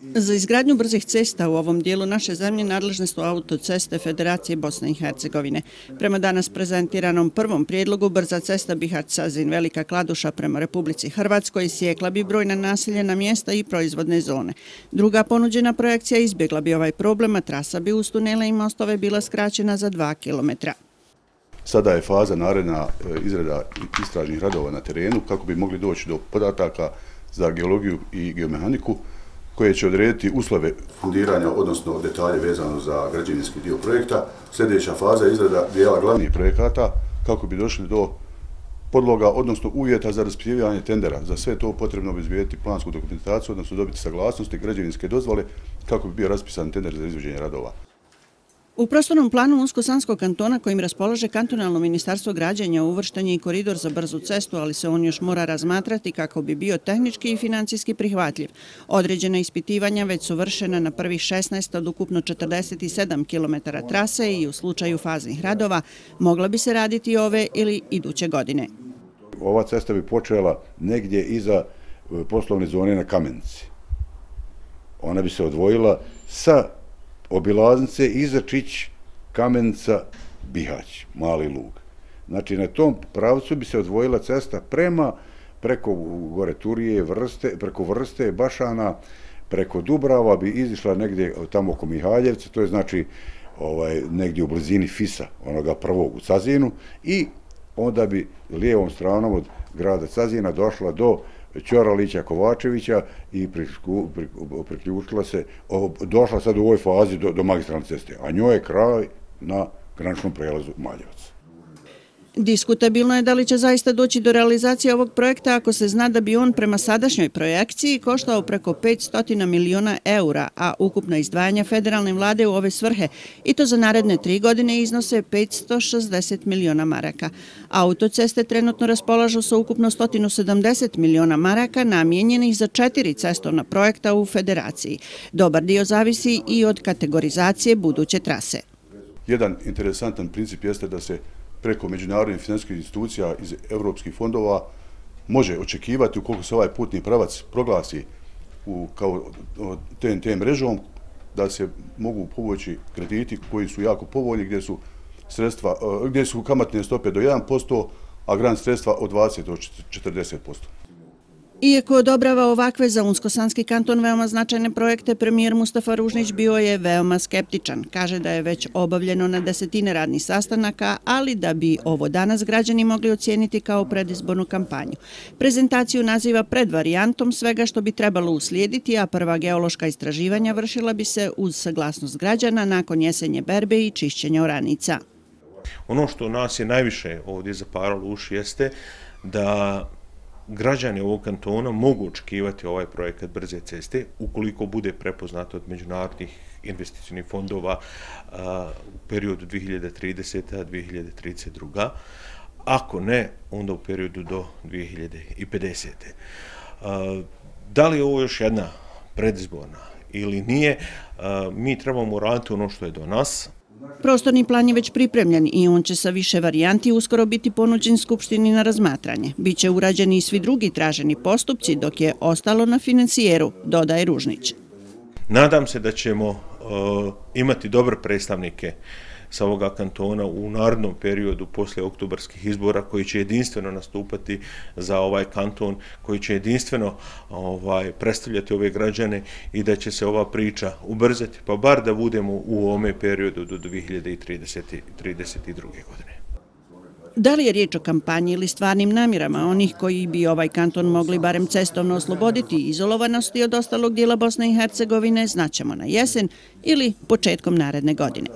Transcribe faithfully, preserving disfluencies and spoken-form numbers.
Za izgradnju brzih cesta u ovom dijelu naše zemlje nadležne su autoceste Federacije Bosne i Hercegovine. Prema danas prezentiranom prvom prijedlogu, brza cesta Bihać-Sazin Velika Kladuša prema Republici Hrvatskoj sjekla bi brojna naseljena mjesta i proizvodne zone. Druga ponuđena projekcija izbjegla bi ovaj problem, a trasa bi uz tunele i mostove bila skraćena za dva kilometra. Sada je faza naredna izrada istražnih radova na terenu kako bi mogli doći do podataka za geologiju i geomehaniku koje će odrediti uslove fundiranja, odnosno detalje vezano za građevinski dio projekta. Sljedeća faza je izrada dijela glavnih projekata kako bi došli do podloga, odnosno uvjeta za raspisivanje tendera. Za sve to potrebno obezbijediti plansku dokumentaciju, odnosno dobiti saglasnosti građevinske dozvole kako bi bio raspisan tender za izvođenje radova. U prostornom planu Unsko-Sanskog kantona kojim raspolaže kantonalno ministarstvo građenja uvršten je i koridor za brzu cestu, ali se on još mora razmatrati kako bi bio tehnički i financijski prihvatljiv. Određena ispitivanja već su vršena na prvih šesnaest od ukupno četrdeset sedam kilometara trase i u slučaju faznih radova mogla bi se raditi ove ili iduće godine. Ova cesta bi počela negdje iza poslovne zone na Kamenici. Ona bi se odvojila sa obilaznice Izačić, Kamenica, Bihać, Mali Lug. Znači, na tom pravcu bi se odvojila cesta prema, preko gore Turije, Vrste, preko Vrste, Bašana, preko Dubrava bi izišla negdje tamo oko Mihaljevca, to je znači ovaj, negdje u blizini Fisa, onoga prvog u Cazinu, i onda bi lijevom stranom od grada Cazina došla do Ćoralića, Kovačevića i priključila se, došla sad u ovoj fazi do, do magistralne ceste, a njoj je kraj na graničnom prelazu Maljevac. Diskutabilno je da li će zaista doći do realizacije ovog projekta ako se zna da bi on prema sadašnjoj projekciji koštao preko petsto miliona eura, a ukupna izdvajanja federalne vlade u ove svrhe, i to za naredne tri godine, iznose petsto šezdeset miliona maraka. Autoceste trenutno raspolažu sa ukupno sto sedamdeset miliona maraka namijenjenih za četiri cestovna projekta u federaciji. Dobar dio zavisi i od kategorizacije buduće trase. Jedan interesantan princip jeste da se preko međunarodnih financijskih institucija iz europskih fondova može očekivati, ukoliko se ovaj putni pravac proglasi u, kao T N T mrežom, da se mogu povući krediti koji su jako povoljni, gdje su, sredstva, gdje su kamatne stope do jedan posto, a grant sredstva od dvadeset do četrdeset posto. Iako odobrava ovakve za Unsko-Sanski kanton veoma značajne projekte, premijer Mustafa Ružnić bio je veoma skeptičan. Kaže da je već obavljeno na desetine radnih sastanaka, ali da bi ovo danas građani mogli ocijeniti kao predizbornu kampanju. Prezentaciju naziva predvarijantom svega što bi trebalo uslijediti, a prva geološka istraživanja vršila bi se uz saglasnost građana nakon jesenje berbe i čišćenja oranica. Ono što nas je najviše ovdje zaparalo uši jeste da građani ovog kantona mogu očekivati ovaj projekat brze ceste ukoliko bude prepoznato od međunarodnih investicijnih fondova a, u periodu dvije hiljade tridesete do dvije hiljade trideset druge. Ako ne, onda u periodu do dvije hiljade pedesete. A, da li je ovo još jedna predizborna ili nije, a, mi trebamo raditi ono što je do nas. Prostorni plan je već pripremljen i on će sa više varijanti uskoro biti ponuđen Skupštini na razmatranje. Biće urađeni i svi drugi traženi postupci, dok je ostalo na financijeru, dodaje Ružnić. Nadam se da ćemo uh, imati dobre predstavnike sa ovoga kantona u narednom periodu poslije oktobarskih izbora koji će jedinstveno nastupati za ovaj kanton, koji će jedinstveno ovaj, predstavljati ove građane i da će se ova priča ubrzati, pa bar da budemo u ovome periodu do dvije hiljade trideset druge. godine. Da li je riječ o kampanji ili stvarnim namjerama onih koji bi ovaj kanton mogli barem cestovno osloboditi izolovanosti od ostalog dijela Bosne i Hercegovine, znaćemo na jesen ili početkom naredne godine.